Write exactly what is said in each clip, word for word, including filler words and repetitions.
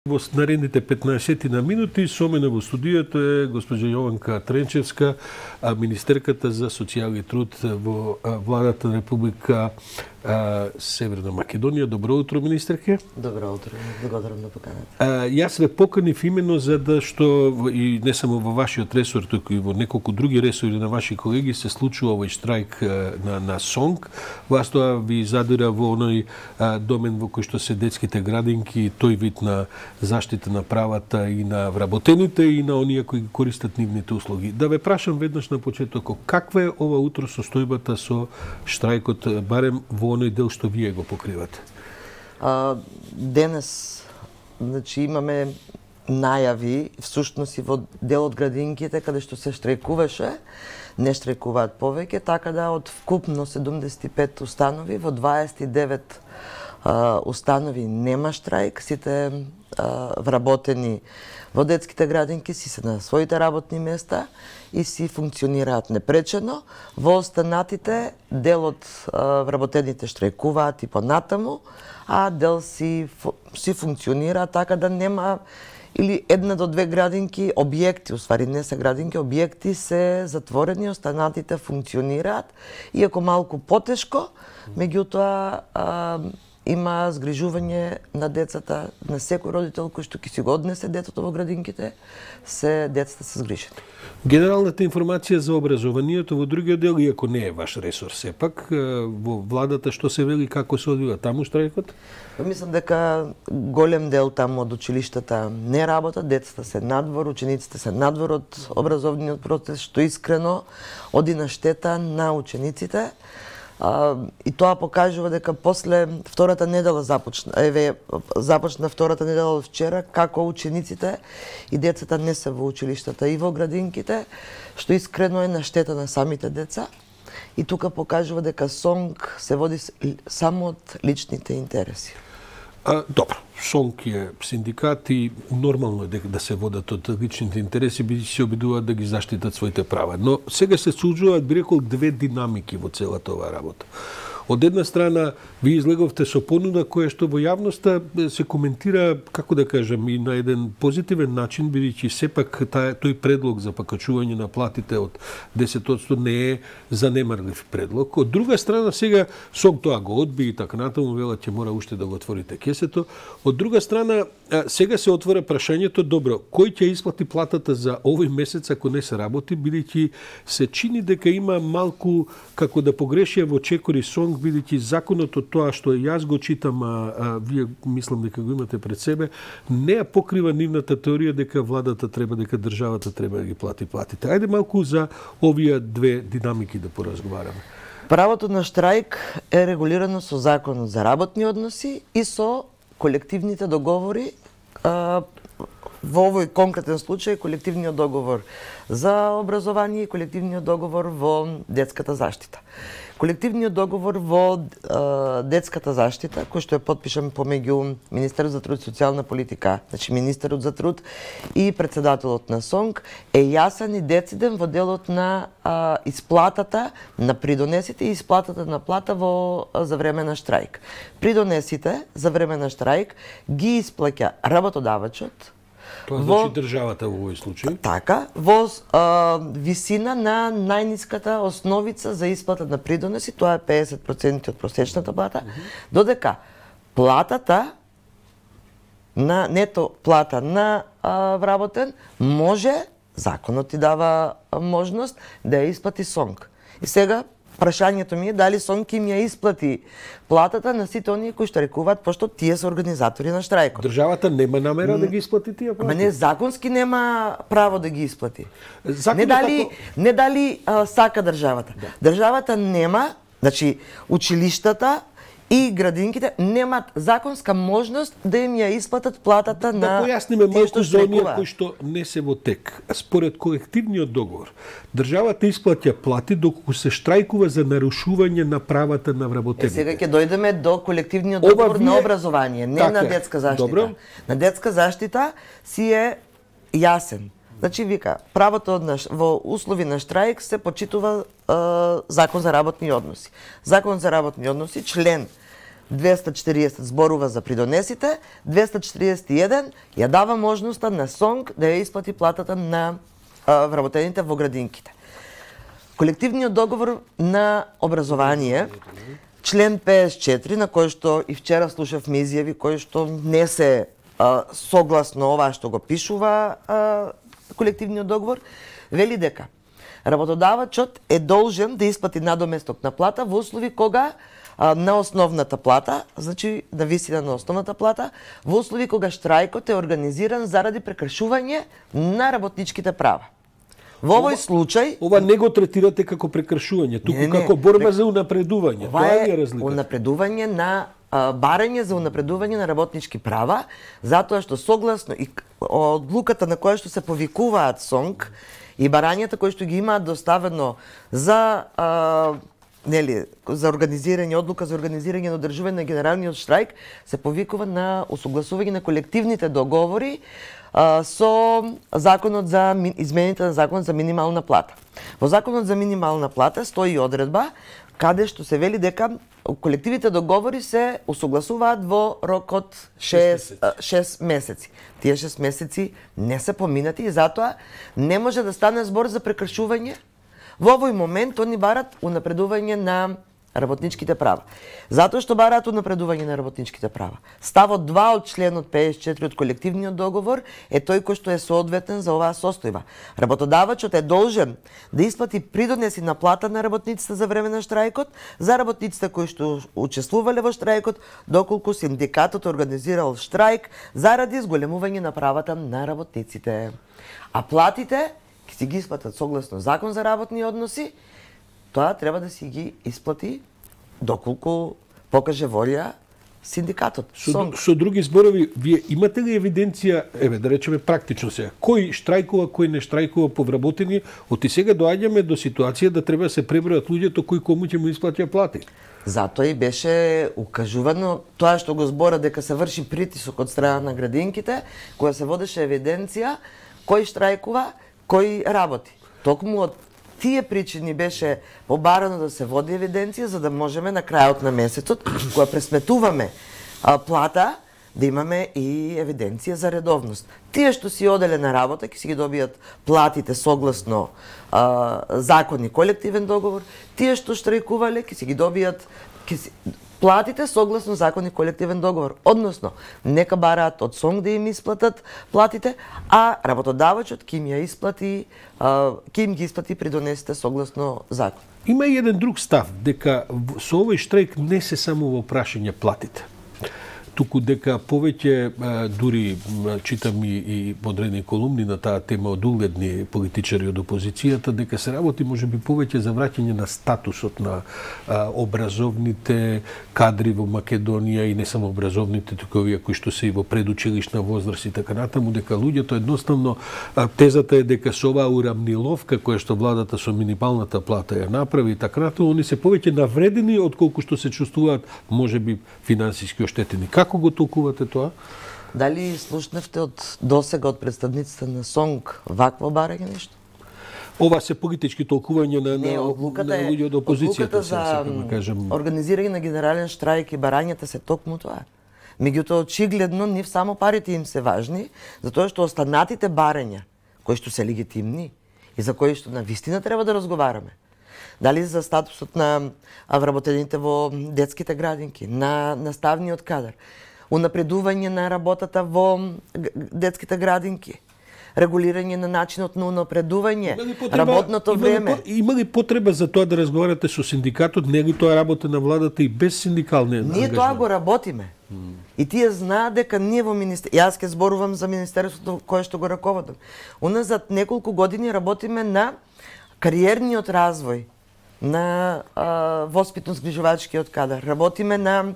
Во наредните петнаесет на минути со мене во студиото е госпожа Јованка Тренчевска, министерката за социјален и труд во владата на Република Северна Македонија. Добро утро, министерке. Добро утро, благодарам на поканата. Јас ве поканив именно за да што и не само во вашиот ресор, туку и во неколку други ресори на ваши колеги се случува овој штрајк на на СОНК. Вас тоа ви задира во оној домен во кој што се детските градинки, тој вид на заштита на правата и на вработените и на оние кои користат нивните услуги. Да ве прашам веднаш на почетокот, каква е ова утро состојбата со штрајкот, барем во оној дел што вие го покривате? А, денес, значи, имаме најави, всушност и во дел од градинките, каде што се штрајкуваше, не штрајкуваат повеќе, така да од вкупно седумдесет и пет установи, во дваесет и девет а, установи нема штрајк, сите а, вработени во детските градинки си се на своите работни места и си функционираат непречено. Во останатите дел од а, вработените штрајкуваат и понатаму, а дел си, си функционира така да нема или една до две градинки, објекти, уствари не се градинки, објекти се затворени, останатите функционираат, иако малку потешко, меѓутоа а, има згрижување на децата, на секој родител кој што ќе си го однесе детето во градинките, се децата се згрижени. Генералната информација за образованието во другиот дел, иако не е ваш ресор сепак, во владата што се вели, како се одвива таму штрајкот? Мислам дека голем дел таму од училиштата не работат, децата се надвор, учениците се надвор од образовниот процес, што искрено оди на штета на учениците. А, и тоа покажува дека после втората недела започна, еве започна втората недела од вчера, како учениците и децата не се во училиштата и во градинките, што искрено е на штета на самите деца. И тука покажува дека СОНК се води само од личните интереси. А, добро, СОНК е синдикат и нормално е дека да се водат од личните интереси, бидејќи се обидуваат да ги заштитат своите права. Но сега се случуваат, би рекол, две динамики во целата оваа работа. Од една страна, ви излеговте со понуда која што во јавноста се коментира, како да кажам, и на еден позитивен начин, бидејќи сепак тај, тој предлог за покачување на платите од десет одсто не е занемарлив предлог. Од друга страна, сега СОНК тоа го одби и така натаму, вела ќе мора уште да го отворите кесето. Од друга страна, сега се отвора прашањето, добро, кој ќе исплати платата за овој месец ако не се работи, бидејќи се чини дека има малку, како да погрешија во чекори СОНК, бидејќи законот од тоа што јас го читам, а, а вие мислам дека го имате пред себе, не ја покрива нивната теорија дека владата треба, дека државата треба да ги плати платите. Ајде малку за овие две динамики да поразговараме. Правото на штрајк е регулирано со Законот за работни односи и со колективните договори, а, во овој конкретен случај колективниот договор за образование и колективниот договор во детската заштита. Колективниот договор во е, детската заштита, кој што е подпишан помеѓу Министерот за труд и социјална политика, значи Министерот за труд и председателот на СОНК, е јасен и дециден во делот на а, исплатата на придонесите и исплатата на плата во за време на штрајк. Придонесите за време на штрајк ги исплаќа работодавачот, Тоа значи државата во овој случај? Така, во а, висина на најниската основица за исплата на придонеси, тоа е педесет проценти од просечната плата, mm -hmm. додека платата на нето плата на а, вработен може, законот ти дава можност да ја исплати СОНК. И сега прашањето ми е дали СОНК им ја исплати платата на сите оние кои штрајкуваат, пошто тие се организатори на штрајкот. Државата нема намера да ги исплати тие плати? Ама не, законски нема право да ги исплати. Законот не дали, како... не дали а, сака државата. Да. Државата нема, значи училиштата и градинките немат законска можност да им ја исплатат платата да на Да појасниме малку за оние кои што не се во тек. Според колективниот договор, државата исплаќа плати доколку се штрајкува за нарушување на правата на вработените. Е, сега ќе дојдеме до колективниот договор вие... на образование, не така на детска заштита. Добро. На детска заштита си е јасен. Значи, вика, правото на, во услови на штрајк се почитува е, Закон за работни односи. Закон за работни односи, член двеста четириесет зборува за придонесите, двеста четириесет и еден ја дава можноста на СОНК да ја исплати платата на а, вработените во градинките. Колективниот договор на образование, член педесет и четири, на кој што и вчера слушавме изјави кои што не се а, согласно ова што го пишува а, колективниот договор, вели дека работодавачот е должен да исплати надоместок на плата во услови кога а, на основната плата, значи на висина на основната плата, во услови кога штрајкот е организиран заради прекршување на работничките права. Во овој случај ова не го третирате како прекршување, туку не, не, како борба за унапредување. Ова Тоа е е разлика. унапредување на а, барање за унапредување на работнички права, затоа што согласно и одлуката на која што се повикуваат СОНК и барањата кои што ги имаат доставено за а, нели за организирање одлука за организирање на одржување на генералниот штрајк се повикува на усогласување на колективните договори а, со законот за измените на законот за минимална плата. Во законот за минимална плата стои одредба каде што се вели дека колективните договори се усогласуваат во рок од шест месеци. Тие шест месеци не се поминати и затоа не може да стане збор за прекршување. Во овој момент они барат унапредување на работничките права. Затоа што бараат унапредување на работничките права. Ставот два од членот педесет и четири од колективниот договор е тој кој што е соодветен за оваа состојба. Работодавачот е должен да исплати придонеси на плата на работниците за време на штрајкот, за работниците кои што учествувале во штрајкот, доколку синдикатот организирал штрајк заради зголемување на правата на работниците. А платите ќе си ги исплатат согласно закон за работни односи, тоа треба да си ги исплати доколку покаже волја синдикатот. Со, со други зборови, вие имате ли евиденција, еве да речеме практично сега, кој штрајкува, кој не штрајкува по вработени, оти сега доаѓаме до ситуација да треба да се пребројат луѓето кои кому ќе му исплатија плати. Затоа и беше укажувано тоа што го збора дека се врши притисок од страна на градинките, која се водеше евиденција кој штрајкува, кој работи. Токму од тие причини беше побарано да се води евиденција за да можеме на крајот на месецот, кога пресметуваме а, плата, да имаме и евиденција за редовност. Тие што си оделе на работа ќе си ги добијат платите согласно а, закон и колективен договор, тие што штрајкувале ќе си ги добијат ќе си, платите согласно закон и колективен договор. Односно, нека бараат од СОНК да им исплатат платите, а работодавачот ќе им ја исплати, ќе им ги исплати придонесите согласно закон. Има и еден друг став, дека со овој штрајк не се само во прашање платите, туку дека повеќе, дури читам и, и подредни колумни на таа тема од угледни политичари од опозицијата, дека се работи можеби повеќе за враќање на статусот на а, образовните кадри во Македонија и не само образовните, туку овие кои што се и во предучилишна возраст и така натаму, дека луѓето едноставно а, тезата е дека со оваа урамниловка која што владата со минималната плата ја направи и така натаму, они се повеќе навредени отколку што се чувствуваат можеби финансиски оштетени. Како го толкувате тоа? Дали слушнавте од досега од представниците на СОНК вакво барање нешто? Ова се политички толкување на, Не, на, одлуката на луѓе од опозицијата, одлуката за да кажем. Организирање на генерален штрајк и барањата се токму тоа. Меѓутоа очигледно нив само парите им се важни, затоа што останатите барања кои што се легитимни и за кои што на вистина треба да разговараме. Дали за статусот на вработените во детските градинки, на наставниот кадар, унапредување на работата во детските градинки, регулирање на начинот на унапредување, работното има време. Ли, има ли потреба за тоа да разговарате со синдикатот? Не е ли тоа работа на владата и без синдикални ангажмент? Ние тоа го работиме. Mm. И тие знаат дека ние во министерството, јас ќе зборувам за министерството кое што го раководам. Уназад неколку години работиме на кариерниот развој на воспитно-згрижувачкиот кадар. Работиме на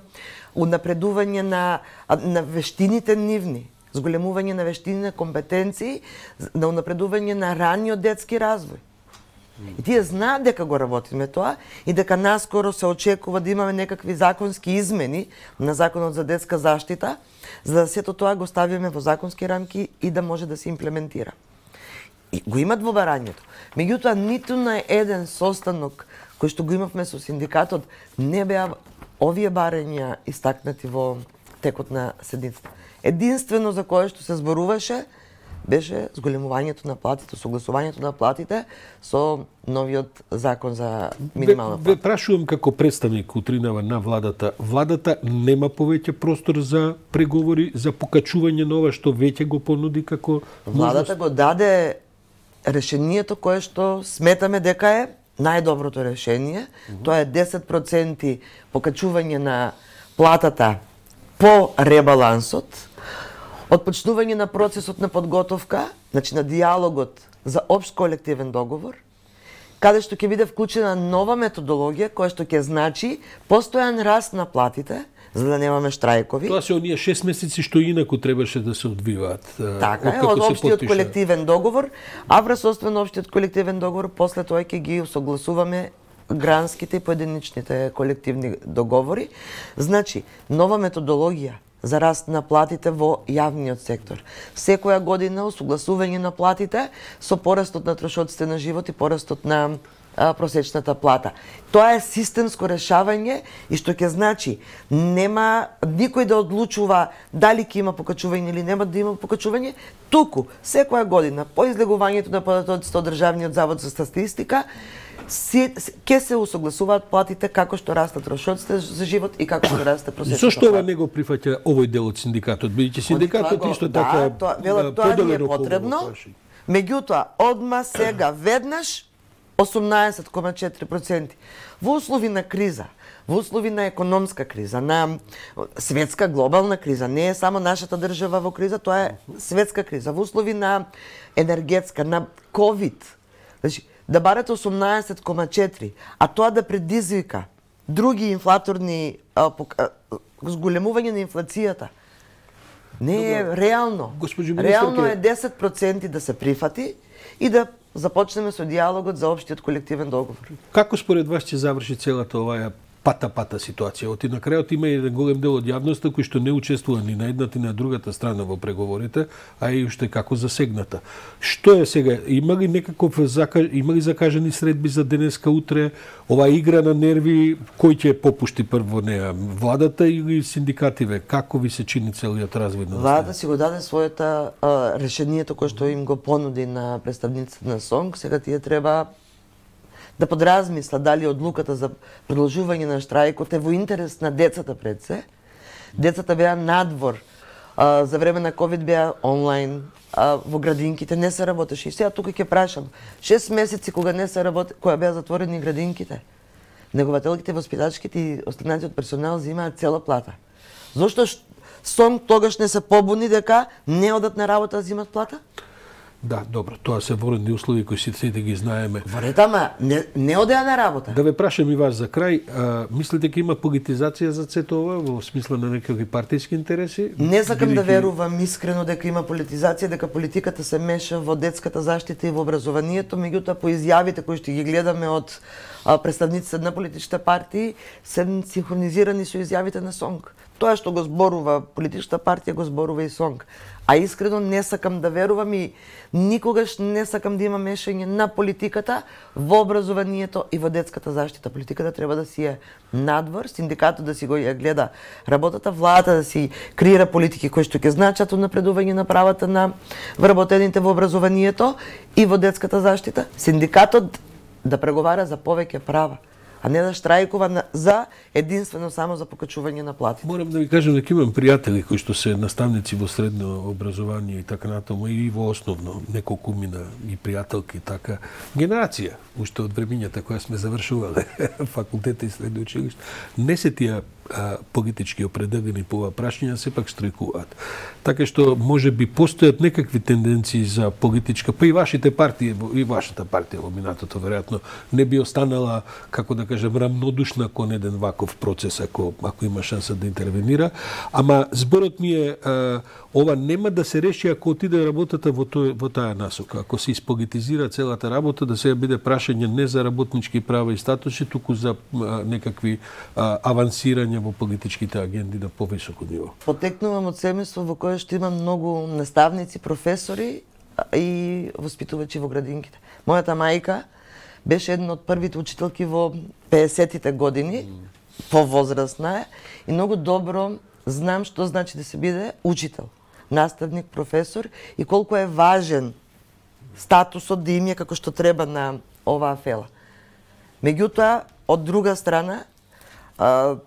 унапредување на, на вештините нивни, зголемување на вештини, на компетенции, на унапредување на раниот детски развој. И тие знаат дека го работиме тоа и дека наскоро се очекува да имаме некакви законски измени на Законот за детска заштита, за да сето тоа го ставиме во законски рамки и да може да се имплементира. И го имат во барањето. Меѓутоа, ниту на еден состанок кој што го имавме со синдикатот не беа овие барања истакнати во текот на седницата. Единствено за кое што се зборуваше беше зголемувањето на платите, согласувањето на платите со новиот закон за минимална плата. Ве прашувам како представник утринава на владата. Владата нема повеќе простор за преговори, за покачување на ова што веќе го понуди како Владата го даде решението кое што сметаме дека е најдоброто решение. Mm -hmm. Тоа е десет проценти покачување на платата по ребалансот, отпочнување на процесот на подготовка, значи на диалогот за општ колективен договор, каде што ќе биде вклучена нова методологија која што ќе значи постојан раст на платите, за да немаме штрајкови. Тоа се оние шест месеци што инаку требаше да се одвиваат. Така е, од општиот колективен договор, а врз освен општиот колективен договор, после тоа ќе ги усогласуваме гранските и поединичните колективни договори. Значи, нова методологија за раст на платите во јавниот сектор. Секоја година усогласување на платите со порастот на трошоците на живот и порастот на а, просечната плата. Тоа е системско решавање и што ќе значи нема никој да одлучува дали ќе има покачување или нема да има покачување, туку секоја година по излегувањето на податоците од Државниот завод за статистика ќе се усогласуваат платите како што растат трошоците за живот и како што расте просечната плата. Зошто ова не го прифаќа овој дел од синдикатот? Бидејќи синдикатот исто така да, тоа, велат, тоа ни е потребно. Меѓутоа, одма сега веднаш осумнаесет кoma четири проценти. Во услови на криза, во услови на економска криза, на светска глобална криза, не е само нашата држава во криза, тоа е светска криза, во услови на енергетска, на ковид. Значи, да барате осумнаесет кoma четири, а тоа да предизвика други инфлаторни а, а, зголемување на инфлацијата. Не е Добро. реално. Реално е десет проценти да се прифати и да започнеме со диалогот за општиот колективен договор. Како според вас ќе заврши целата оваа пата-пата ситуација? Оти на крајот има еден голем дел од јавноста кој што не учествува ни на едната ни на другата страна во преговорите, а и уште како засегната. Што е сега? Има ли некаков закаж... има ли закажани средби за денеска, утре? Ова игра на нерви, кој ќе попушти прво неа? Владата или синдикативе? Како ви се чини целиот развој на Владата си го даде својата а, решението кое што им го понуди на представниците на СОНГ. Сега тие треба да подразмисла дали одлуката за продолжување на штрајкот е во интерес на децата пред се. Децата беа надвор, а, за време на ковид беа онлайн, а, во градинките не се работеше. И сега тука ќе прашам, шест месеци кога не се работи, кога беа затворени градинките, негователките, воспитачките и останатиот персонал земаат цела плата. Зошто СОНГ тогаш не се побуни дека не одат на работа да земат плата? Да, добро, тоа се воредни услови кои сите да ги знаеме. Воред, ама не, не одеа на работа. Да ве прашам и вас за крај, а, мислите дека има политизација за сето ова во смисла на некакви партиски интереси? Не сакам Бидејќи... да верувам искрено дека има политизација, дека политиката се меша во детската заштита и во образованието, меѓутоа по изјавите кои што ги гледаме од а, представниците на политичките партии се синхронизирани со изјавите на СОНГ. Тоа што го зборува политичката партија го зборува и СОНГ. А искрено не сакам да верувам и никогаш не сакам да има мешање на политиката во образованието и во детската заштита. Политиката треба да си е надвор, синдикатот да си го ја гледа работата, владата да си креира политики кои што ќе значат напредување на правата на вработените во образованието и во детската заштита. Синдикатот да преговара за повеќе права, а не да штрајкува за единствено само за покачување на платите. Морам да ви кажам дека имам пријатели кои што се наставници во средно образование и така натаму и во основно, неколку мина и пријателки така генерација уште од времињата која сме завршувале факултета и средно училиште. Не се тие а, политички определени по ова прашање, сепак штрајкуваат. Така што може би постојат некакви тенденции за политичка, па и вашите партии, и вашата партија во минатото веројатно не би останала, како да кажем, рамнодушна кон еден ваков процес ако ако има шанса да интервенира, ама зборот ми е а, ова нема да се реши ако отиде работата во тој во таа насока. Ако се исполитизира целата работа, да се биде прашање не за работнички права и статуси, туку за а, некакви а, авансирања во политичките агенди на повисоко ниво. Потекнувам од семејство во кое што има многу наставници, професори и воспитувачи во градинките. Мојата мајка беше една од првите учителки во пеесеттите години. повозрастна е и многу добро знам што значи да се биде учител, наставник, професор и колку е важен статусот да им е како што треба на оваа фела. Меѓутоа, од друга страна, а,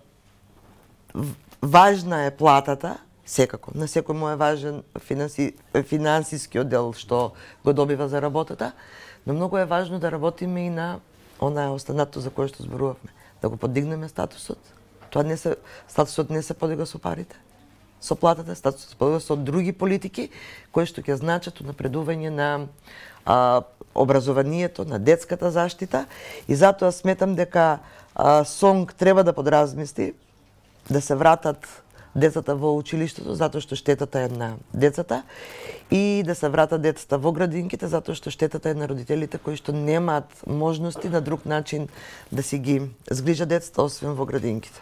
важна е платата, секако. На секој му е важен финанси, финансискиот дел што го добива за работата, но многу е важно да работиме и на онаа останато за кое што зборувавме. Да го подигнеме статусот. Тоа не се, статусот не се подига со парите, со платата, статусот се подига со други политики кои што ќе значат напредување на а, образованието, на детската заштита и затоа сметам дека а, СОНГ треба да подразмисли да се вратат децата во училиштето затоа што штетата е на децата и да се вратат децата во градинките затоа што штетата е на родителите кои што немаат можности на друг начин да си ги згрижат децата освен во градинките.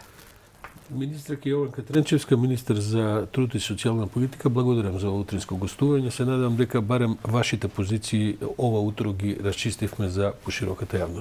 Министерка Јованка Тренчевска, министер за труд и социјална политика, благодарам за утринско гостување. Се надевам дека барем вашите позиции ова утро ги расчистивме за пошироката јавност.